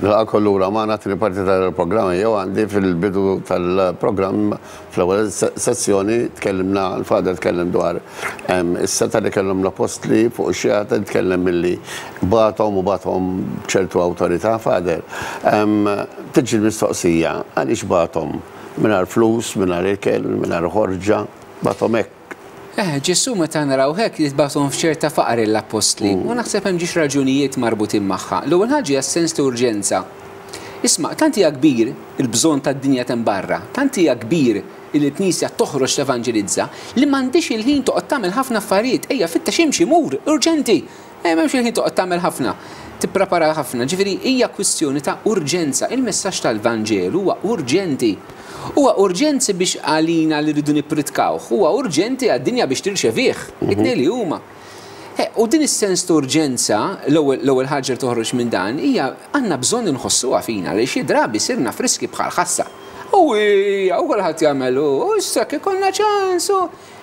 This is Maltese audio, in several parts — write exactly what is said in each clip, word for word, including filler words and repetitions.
Nilqagħkom lura magħna t-tieni parti tal-programm. Jew għandi fil-bidu tal-programm, fl-ewwel sezzjoni, tkellimna, l-Father tkellem dwar is-setgħa li kellhom l-apostli fuq ix-xjaten, tkellem milli bagħathom u bagħathom ċertu awtorità. Father, tiġi l-mistoqsija, għaliex bagħathom mingħajr flus, mingħajr ikel, mingħajr ħorġa, bagħathom hekk? Eh, Ġesù meta naraw hekk jitbagħathom f'ċerta faqar l-appostli, u naħseb hemm ġiex raġunijiet marbutin magħha. L-ewwel ħaġa hija sens ta' urġenza. Isma', tant hija kbir il-bżonn tad-dinja t'hemm barra, tant hija kbir il-Knisja toħroġ tevanġelizza li m'għandix il-ħin toqgħod tagħmel ħafna affarijiet, ejja fittex imxi mur, urġenti. Eh, m'hemmx il-ħin toqgħod tagħmel ħafna, tipprepara ħafna. Ġifieri hija kwistjoni ta' urġenza. Il-messaġġ tal-Vanġelu huwa urġenti. Huwa urġenzi biex għalina li rridu nippritkawh, huwa urġenti għad-dinja biex tirċevih, it-tnejn li huma. U din is-sens ta' urġenza, l-ewwel ħaġa li toħroġ minn dan hija għandna bżonn inħossuha fina li xi drabi sirna friski bħal ħassa. U hija u kulħadd jagħmel u issa kif ikollna ċans u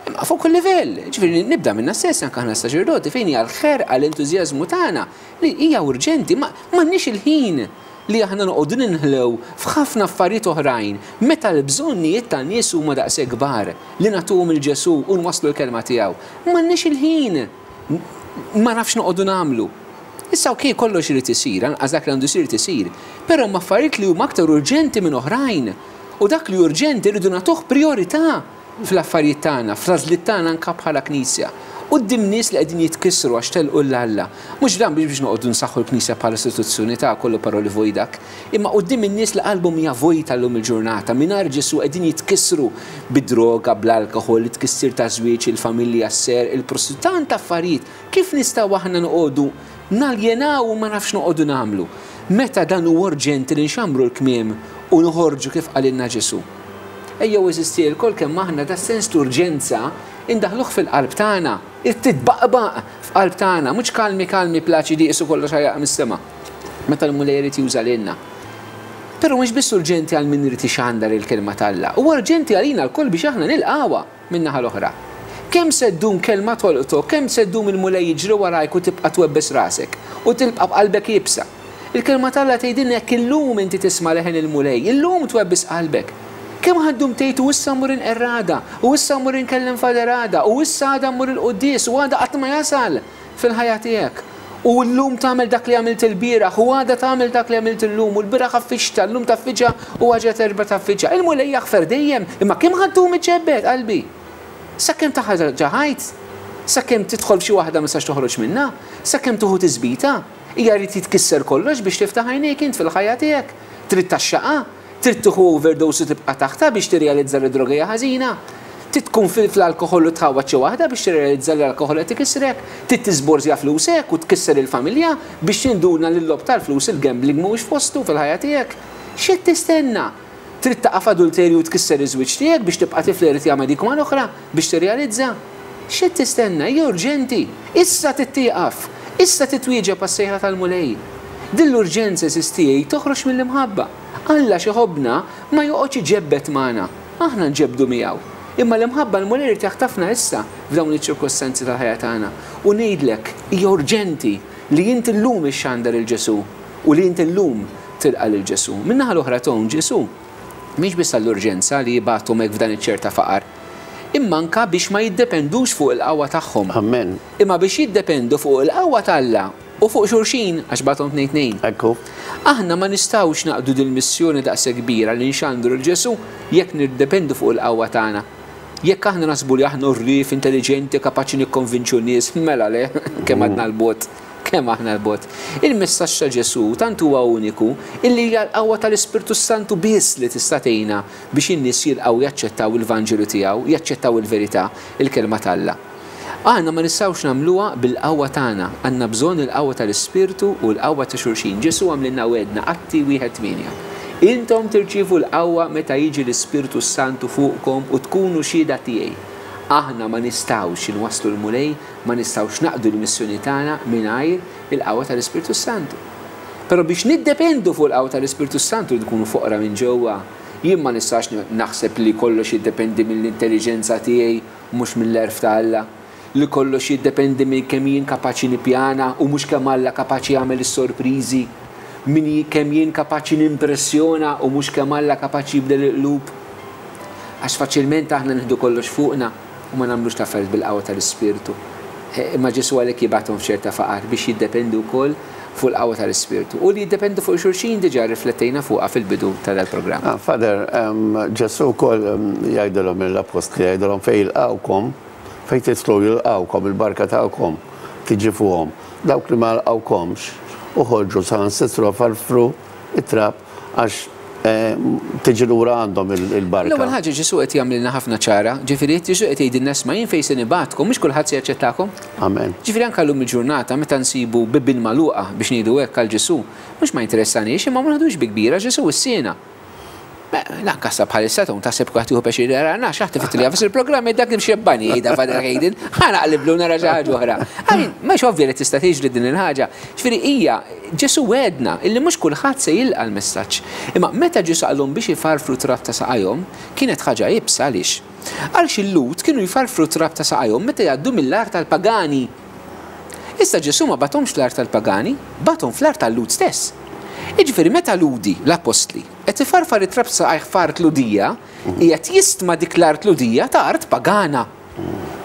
imma fuq kull livell. Ġifieri nibda minna stess anke aħna saċerdoti fejn hija l-ħerqa, l-entużjażmu tagħna li hija urġenti, ma m'għandniex il-ħin li aħna noqogħdu ninħlew f'ħafna affarijiet oħrajn meta l-bżonnijiet tan-nies huma daqshekk kbar li nagħtuhom il Ġesù u nwasslu l-kelma tiegħu. M'għandniex il-ħin, ma nafx noqogħdu nagħmlu. Issa okej, kollox irid isir, anqas dak li għandu jsir isir, però hemm affarijiet li huma aktar urġenti minn oħrajn. U dak li urġenti rridu nagħtuh priorità fl-affarijiet tagħna, fl-għażliet tagħna anke bħala Knisja. Quddiem nies li qegħdin jitkissru għax telqu 'l Alla. Mhux dan biex biex noqogħdu nsaħħu l-Knisja bħala istituzzjoni ta' kollu paroli vojdak, imma quddiem in-nies li qalbhom hija vojta llum il-ġurnata, mingħajr Ġesù qegħdin jitkissru bid-droga, bl-alkoħol, it-tkissir ta' żwieġ, il-familja, s-ser, il-prostituzzjoni, tant affarijiet. Kif nistgħu aħna noqogħdu naljenaw u ma nafx noqogħdu nagħmlu? Meta dan huwa urġenti li nxammru l-kmiem u noħorġu kif qalilna Ġesù. Ejjew eżisti lkoll kemm aħna da sens ta' urġenza indaħluh fil-qalb tagħna, titbaqbaq f'qalb tagħna, mhux kalmi kalmi plaċidi qisu kollox ħajaq mis-sema. Meta l-Mulej irid juża lilna. Però mhux biss urġenti għal min irid ixandar il-kelma t'Alla, huwa urġenti għalina lkoll biex aħna nilqawha min-naħa l-oħra. Kemm se ddum kelma tolqtok, kemm se ddum il-Mulej jiġri warajk u tibqa' twebbes rasek u tilqa' b'qalbek iebsa. Il-kelma t'Alla tgħidilna jekk illum inti tisma' leħen il-Mulej, illum twebbes qalbek. Kemm ħaddum tgħid u issa mmur inqerr għada, u issa mmur inkellem Father għada, u issa għada mmur il-quddies, u għada qatt ma jasal fil-ħajja tiegħek. U llum tagħmel dak li għamilt il-bieraħ, u għada tagħmel dak li għamilt illum, u l-bieraħ affiċta, llum taffiċa, u għaġa terba taffiċa. Il-Mulej jaħfer dejjem, imma kemm ħaddum iġġebbed qalbi? Sakemm taħħa ħajt, sakemm tidħol f'xi waħda ma tistax toħroġ minnha, sakemm tuħu tiżbita, hija jrid jitkisser kollox biex tiftaħ għajnejk int fil-ħajja tiegħek. Trid taxxaqa, trid tieħu overdose u tibqa' taħta biex tirrealizza li droga hija ħażina. Trid tkun fil-alkoħol u tħawwad xi waħda biex tirrealizza li l-alkoħol qed ikissrek. Trid tiżborżja flusek u tkisser il-familja biex tinduna li l-logħob tal-flus, il-gambling mhuwiex postu fil-ħajja tiegħek. X'qed tistenna? Trid taqa' f'adulterju u tkisser iż-żwieġ tiegħek biex tibqa' tiflerti jagħmel dik mal-oħra biex tirrealizza? X'qed tistenna? Hija urġenti. Issa tittieqaf. Issa titwieġeb għas-sejħa tal-Mulej. Din l-urġenza eżistijaj toħroġ mill-imħabba. Alla xi ħobbna ma joqgħodx iġebbed magħna, aħna nġebdu miegħu. Imma l-imħabba l-Mulej irid jaħtafna issa f'dawn iċ-ċirkostanzi tal-ħajja tagħna. U ngħidlek hija urġenti li inti llum ixxandar il Ġesù u li inti llum tilqa' lil Ġesù. Min-naħa l-oħra ton Ġesù mhix biss għall-urġenza li jibgħathom hekk f'dan iċ-ċerta faqar, imma anka biex ma jiddependux fuq il-qawwa tagħhom. Amen. Imma biex jiddependu fuq il-qawwa t'Alla u fuq xulxin, għax bagħathom tnejn tnejn. Ekku. Aħna ma nistgħux naqdu din missjoni daqshekk kbira li nxandru l Ġesù jekk niddependu fuq il-qawwa tagħna. Jekk aħna nasbu li aħna rrif, intelligenti, kapaċi nikkonvinċu nies, mela le, kemm għadna l-bot, kemm aħna l-bot. Il-messaġġ ta' Ġesù tant huwa uniku illi hija l-qawwa tal-Ispirtu Santu biss li tista' tgħinna biex in-nies jilqgħu jaċċettaw il-Vanġelu tiegħu, jaċċettaw il-verità, il-kelma t'Alla. Aħna ma nistgħux nagħmluha bil-qawwa tagħna, għandna bżonn il-qawwa tal-Ispirtu u l-qawwa ta' xulxin. Ġesù għamlilna wedna Atti wieħed tmienja. Intom tirċievu l-qawwa meta jiġi l-Ispirtu Santu fuqkom u tkunu xhieda tiegħi. Aħna ma nistgħux inwasslu l-Mulej, ma nistgħux naqdu l-missjoni tagħna mingħajr il-qawwa tal-Ispirtu Santu. Però biex niddependu fuq il-qawwa tal-Ispirtu Santu nkunu foqra minn ġewwa. Jien ma nistax naħseb li kollox jiddependi mill-intelligenza tiegħi mhux mill-għerf ta' Alla. Li kollox jiddependi minn kemm jien kapaċi nippjana u mhux kemm Alla kapaċi jagħmel is-sorpriżi. min kemm jien kapaċi nimpressjona u mhux kemm Alla kapaċi jibdel il-qlub. Għax faċilment aħna nieħdu kollox fuqna u ma nagħmlux l-affarijiet bil-qawwa tal-Ispirtu. Imma Ġesù għalhekk jibgħathom f'ċerta faqar biex jiddependu wkoll fuq il-qawwa tal-Ispirtu. U li jiddependu fuq xulxin diġà riflettejna fuqha fil-bidu ta' dal-programm. Ah, Father, Ġesù wkoll jgħidilhom l-appostli, jgħidilhom fejn jilqgħukom, fejn tidħlu jilqgħukom, il-barka tagħkom tiġi fuqhom. Dawk li ma lqgħukomx uħorġu saħansitra farfru it-trab għax tiġi lura għandhom il-barka. L-ewwel ħaġa Ġesù qed jagħmlilna ħafna ċara, ġifieri Ġesù qed jgħidilna isma' jien fejn se nibgħatkom mhux kulħadd se jaċċettakom. Amen. Ġifieri anke llum il-ġurnata meta nsibu bibien magħluqa biex ngħidu hekk għal Ġesù, mhux ma jinteressanix imma ma naħdux bi kbira Ġesù wissiena. Lanqas sa bħalissa tkun taħseb kulħadd jieħu pjaċir jarana, xi ħadd ifittilha fis il-programm dak li mxebbani jgħidha Father Hayden, ħa naqliblu nara xi ħaġa oħra. Għalin, mhux ovvja li tista' tiġri din il-ħaġa. Ġifieri hija Ġesù wegħedna illi mhux kulħadd se jilqa' l-messaġġ. Imma meta Ġesù qalhom biex ifarfru trab ta' saqajhom, kienet ħaġa iebsa għaliex. Għaliex il-Lhud kienu jfarfru trab ta' saqajhom meta jgħaddu mill-art tal-pagani. Issa Ġesù ma bagħathomx fl-art tal-pagani, bagħathom fl-art tal-Lhud stess. Jiġifieri meta Lhudi, l-apostli, qed ifarfar it-trab saqajh f'art Lhudija, qiegħed jistma dik l-art Lhudija ta' art pagana.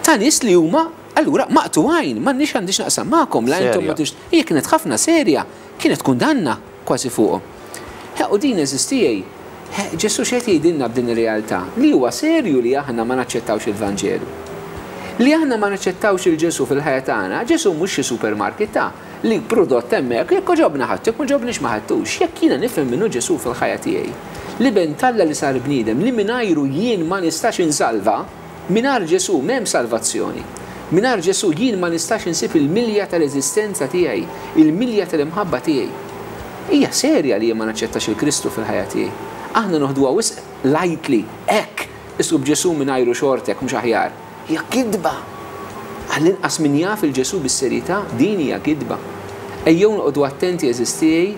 Ta' nies li huma allura maqtugħin, m'għandniex għandix naqsam magħkom, la intom ma tix. Hija kienet ħafna serja, kienet kundanna kważi fuqhom. U din eżistijej, Ġesù x'qed jgħidilna b'din ir-realtà? Li huwa serju li aħna ma naċċettawx il-Vanġelu. Li aħna ma naċċettawx il-Ġesù fil-ħajja tagħna, Ġesù mhux xi supermarket ta' li prodott hemmhekk, jekk għoġobna ħadd, jekk ma għoġobniex ma ħadtux, jekk jiena nifhem minnu Ġesù fil-ħajja tiegħi. Li ben t'Alla li sar bniedem, li mingħajru jien ma nistax insalva, mingħajr Ġesù m'hemm salvazzjoni. Mingħajr Ġesù jien ma nistax insib il-milja tal-eżistenza tiegħi, il-milja tal-imħabba tiegħi. Hija serja li jien ma naċċettax il-Kristu fil-ħajja tiegħi. Aħna noħduha wisq lightly, hekk, isub Ġesù mingħajru xortek mhux aħjar. Hija kidba. Għall-inqas min jaf il-Ġesù bis-serjetà, din hija kidba. Ejjew noqogħdu attenti eżistijej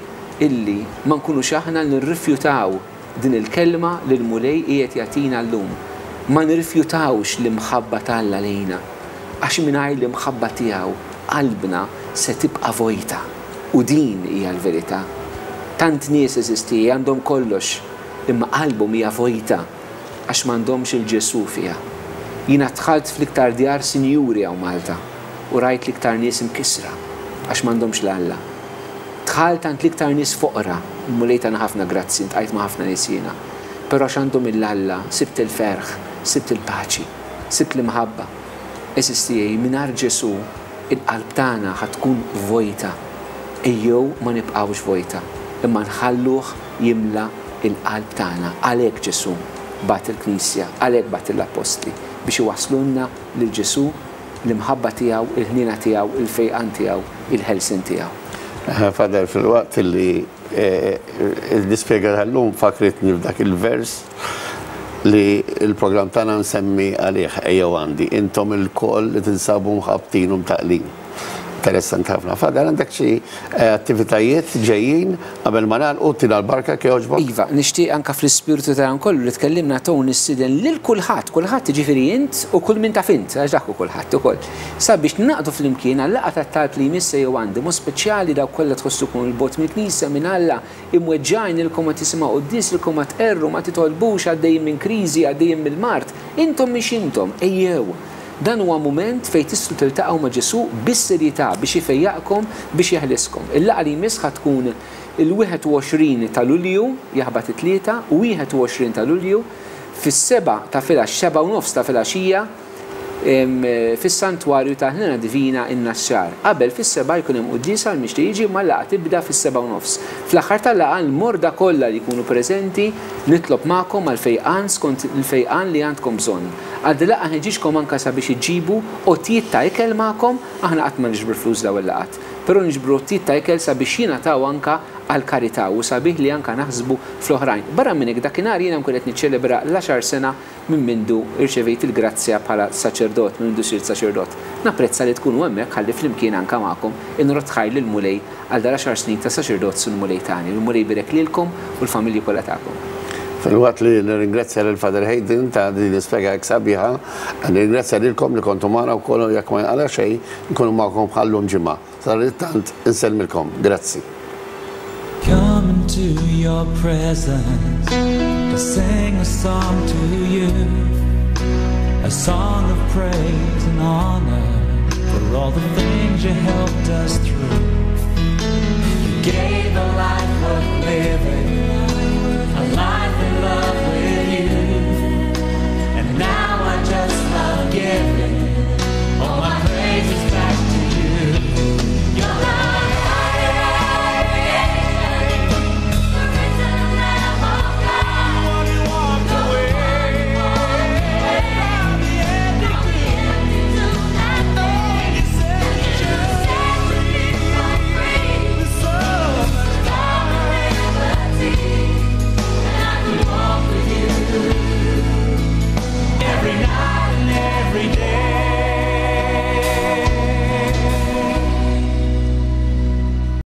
illi ma nkunux aħna nirrifjutaw din il-kelma li l-Mulej qiegħed jagħtina llum. Ma nirrifjutawx l-imħabba t'Alla lejna, għax mingħajr l-imħabba tiegħu qalbna se tibqa' vojta. U din hija l-verità. Tant nies eżistijej għandhom kollox, imma qalbhom hija vojta għax m'għandhomx il-Ġesù fiha. Jiena dħalt fl-iktar djar sinjuri hawn Malta u rajt l-iktar nies imkisra għax m'għandhomx l-Alla. Dħalt għand l-iktar nies foqra, Mulej tana ħafna grazzi, ntqajt ma' ħafna nies jiena. Però għax għandhom il-Alla, sibt il-ferħ, sibt il-paċi, sibt l-imħabba. Eżistijej, mingħajr Ġesù, il-qalb tagħna ħa tkun vojta. Ejjew ma nibqgħux vojta, imma nħalluh jimla il-qalb tagħna. Għalhekk Ġesù bagħat il-Knisja, għalhekk bagħat l-Appostli biex iwasslulna lil Ġesù l-imħabba tiegħu, il-ħniena tiegħu, il-fejqan tiegħu, il-ħelsien tiegħu. Father, fil-waqt li l-dispjega tal-lum fakritni f'dak il-vers li il-programm tagħna nsemmi għalih ejjew għandi, intom ilkoll li tinsabu mħabtin u mtaqlin. Interessanti ħafna. Father, għandek xi attivitajiet ġejjin qabel ma nagħlqu tina l-barka kif jogħġbok? Iva, nixtieq anke fl-ispirtu ta' dan kollu li tkellimna Tony nistieden lil kulħadd, kulħadd jiġifieri int u kull min taf int, għax dak hu kulħadd ukoll. Sabiex naqdu flimkien għal-laqgħa tat-talb li jmiss ejjew għandi, mod speċjali dawk kollha tħossukom il-bogħod mill-Knisja minn Alla, imweġġgħin ilkom ma tisimgħu quddies, ilkom ma tqerru, ma titolbux, għaddejjin minn kriżi, għaddejjin mill-mard. Intom mhix intom, ejjew. Dan huwa mument fejn tistgħu tiltaqgħu ma' Ġesù bis-serjetà biex ifejjaqkom, biex jeħliskom. Il-laqgħa li jmiss ħa tkun il-wieħed u għoxrin ta' Lulju, jaħbat it-tlieta, u wieħed u għoxrin ta' Lulju, fis-seba' ta' filgħax, seba' u nofs ta' filgħaxija, em, fis-Santwarju ta' Ħnina Divina in-Naxxar. Qabel fis-seba' jkun hemm quddiesa għal mixtieq jiġi, ma l-laqgħa tibda fis-seba' u nofs. Fl-aħħar tal-laqgħa l-morda kollha li jkunu preżenti nitlob magħkom għal fejqan skont il-fejqan li għandkom bżonn. Għal din laqgħa ħeġġiġkom anke sabiex iġibu għotjiet ta' ikel magħkom, aħna qatt ma niġbru flus dawn il-laqgħat, però niġbru għotjiet ta' ikel sabiex jingħataw anke għal karità u sabiħ li anke naħsbu fl-oħrajn. Barra minn hekk dakinhar jiena nkun qed niċċelebra l-għaxar sena minn mindu rċevejt il-grazzja bħala saċerdot, minn mindu sirt saċerdot. Napprezza li tkunu hemmhekk ħalli flimkien anke magħkom inrod ħajr lill-Mulej għal dar għaxar snin ta' saċerdot sul Mulej tagħni. Il-Mulej birek lilkom u l-familji kollha tagħkom. Fil-waqt li nirringrazzja lil Father Hayden ta' din l-ispjega hekk sabiħa, nirringrazzja lilkom li kontu magħna wkoll jekk ma jinqala xejn, nkunu magħkom bħallum ġimgħa. Sadanittant insellmilkom. Grazzi. Come Come into your presence to sing a song to you, a song of praise and honor for all the things you helped us through.